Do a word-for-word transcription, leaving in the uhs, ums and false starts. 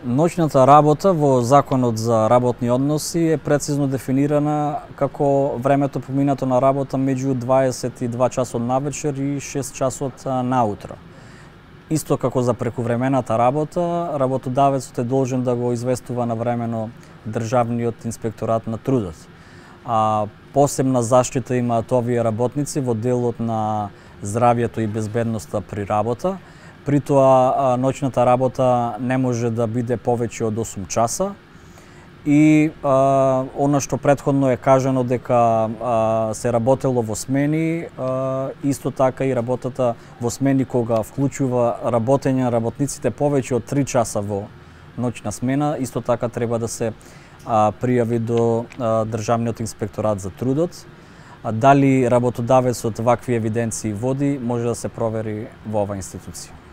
Ноќната работа во Законот за работни односи е прецизно дефинирана како времето поминато на работа меѓу дваесет и два часот навечер и шест часот наутро. Исто како за прекувремената работа, работодавецот е должен да го известува навремено Државниот инспекторат на трудот. А посебна заштита имаат овие работници во делот на здравјето и безбедноста при работа. При тоа ноќната работа не може да биде повеќе од осум часа и а, она што претходно е кажано дека а, се работело во смени, а, исто така и работата во смени кога вклучува работење на работниците повеќе од три часа во ноќна смена, исто така треба да се а, пријави до а, Државниот инспекторат за трудот. А дали работодавецот вакви евиденции води, може да се провери во оваа институција.